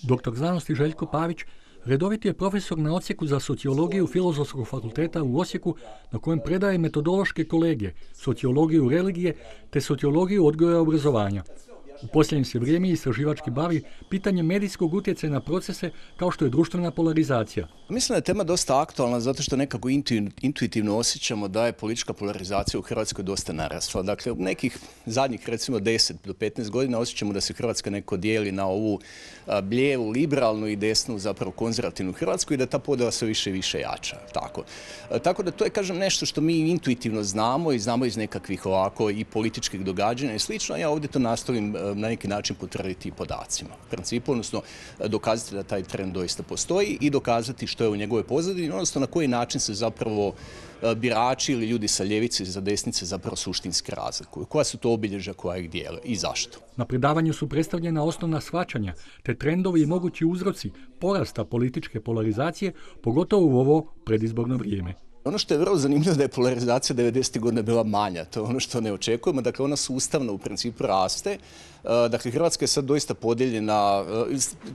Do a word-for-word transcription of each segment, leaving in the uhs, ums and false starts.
Doktor znanosti Željko Pavić redoviti je profesor na odsjeku za sociologiju Filozofskog fakulteta u Osijeku, na kojem predaje metodološke kolegije, sociologiju religije te sociologiju odgoja i obrazovanja. U posljednje se vrijeme istraživački bavi pitanjem medijskog utjecaja na procese kao što je društvena polarizacija. Mislim da je tema dosta aktualna zato što nekako intuitivno osjećamo da je politička polarizacija u Hrvatskoj dosta narasla. Dakle, u nekih zadnjih recimo deset do petnaest godina osjećamo da se Hrvatska neko dijeli na ovu lijevu, liberalnu i desnu, zapravo konzervativnu Hrvatsku i da ta podjela sve više i više jača. Tako. Tako da to je, kažem, nešto što mi intuitivno znamo i znamo iz nekakvih ovako i političkih događanja i slično. Ja ovdje to nastavim na neki način potvrditi i podacima. U principu, odnosno dokazati da taj trend doista postoji i dokazati što je u njegovoj pozadini, odnosno na koji način se zapravo birači ili ljudi sa ljevice i sa desnice zapravo suštinski razlikuju. Koja su to obilježja koja ih dijele i zašto? Na predavanju su predstavljena osnovna shvaćanja te trendovi i mogući uzroci porasta političke polarizacije, pogotovo u ovo predizborno vrijeme. Ono što je vrlo zanimljivo da je polarizacija devedesetih godina bila manja, to je ono što ne očekujemo, dakle ona sustavno u principu raste. Dakle, Hrvatska je sad doista podijeljena,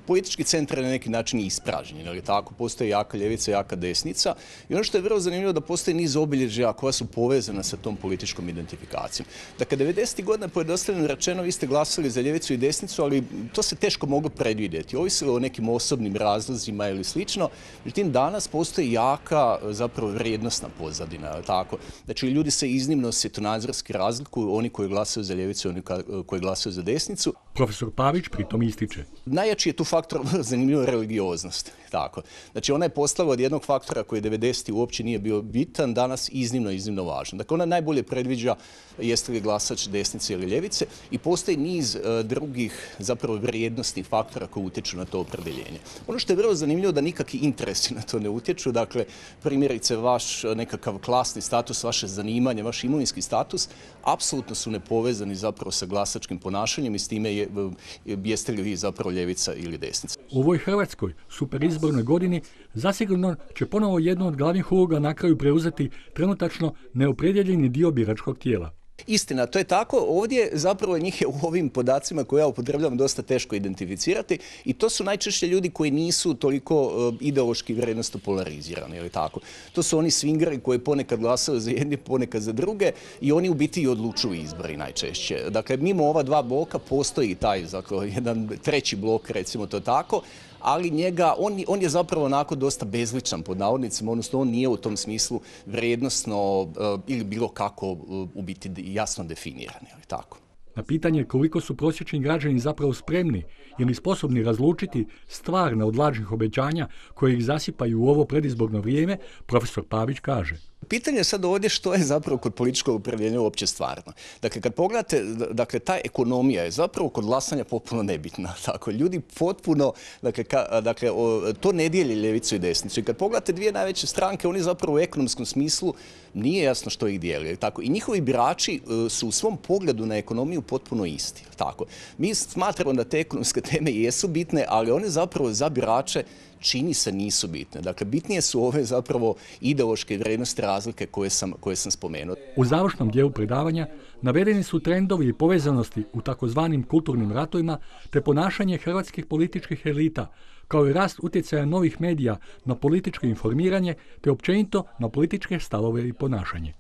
politički centar je na neki način ispražnjen, ali tako, postoji jaka ljevica, jaka desnica i ono što je vrlo zanimljivo da postoji niz obilježja koja su povezana sa tom političkom identifikacijom. Dakle, devedesetih godina pojednostavljeno rečeno vi ste glasali za ljevicu i desnicu, ali to se teško moglo predvidjeti, ovisilo o nekim osobnim razlozima ili slično, međutim danas postoji jaka zapravo vrijednosna pozadina, tako. Znači, ljudi se iznimno svjetonazorski razlikuju, oni koji glasaju za ljevicu i oni koji glasaju za desnicu. Profesor Pavić pritom ističe. Najjači je tu faktor zanimljivo religioznost. Tako. Znači ona je postala od jednog faktora koji devedesetih uopće nije bio bitan, danas iznimno, iznimno važan. Dakle, ona najbolje predviđa jeste li glasač desnice ili ljevice i postoji niz uh, drugih zapravo vrijednostnih faktora koji utječu na to opredjeljenje. Ono što je vrlo zanimljivo da nikakvi interesi na to ne utječu, dakle primjerice vaš nekakav klasni status, vaše zanimanje, vaš imovinski status, apsolutno su nepovezani zapravo sa glasačkim ponašanjem i s time je, jeste li vi zapravo ljevica ili desnica. U ovoj Hrvatskoj superizbornoj godini zasigurno će ponovo jednu od glavnih uloga na kraju preuzeti trenutačno neopredjeljeni dio biračkog tijela. Istina, to je tako. Ovdje zapravo njih je u ovim podacima koje ja upotrebljavam dosta teško identificirati i to su najčešće ljudi koji nisu toliko uh, ideološki vrijednosno polarizirani, ili tako. To su oni swingeri koji ponekad glasaju za jedne, ponekad za druge i oni u biti i odlučuju izbori najčešće. Dakle, mimo ova dva bloka postoji i taj, dakle, jedan treći blok, recimo to tako, ali njega, on, on je zapravo onako dosta bezličan pod navodnicima, odnosno on nije u tom smislu vrijednosno uh, ili bilo kako uh, u biti jasno definiran, ali tako. Na pitanje koliko su prosječni građani zapravo spremni ili sposobni razlučiti stvarne od lažnih obećanja koje ih zasipaju u ovo predizborno vrijeme, profesor Pavić kaže. Pitanje je sad ovdje što je zapravo kod političkog opredjeljenja uopće stvarno. Dakle, kad pogledate, dakle, ta ekonomija je zapravo kod glasanja potpuno nebitna. Tako, ljudi potpuno, dakle, ka, dakle o, to ne dijeli ljevicu i desnicu. I kad pogledate dvije najveće stranke, oni zapravo u ekonomskom smislu nije jasno što ih dijeli. Tako, i njihovi birači uh, su u svom pogledu na ekonomiju potpuno isti. Tako, mi smatramo da te ekonomske teme jesu bitne, ali one zapravo za birače čini se nisu bitne. Dakle, bitnije su ove zapravo ideološke vrijednosti razlike koje sam, koje sam spomenuo. U završnom dijelu predavanja navedeni su trendovi i povezanosti u takozvanim kulturnim ratovima te ponašanje hrvatskih političkih elita, kao i rast utjecaja novih medija na političko informiranje te općenito na političke stavove i ponašanje.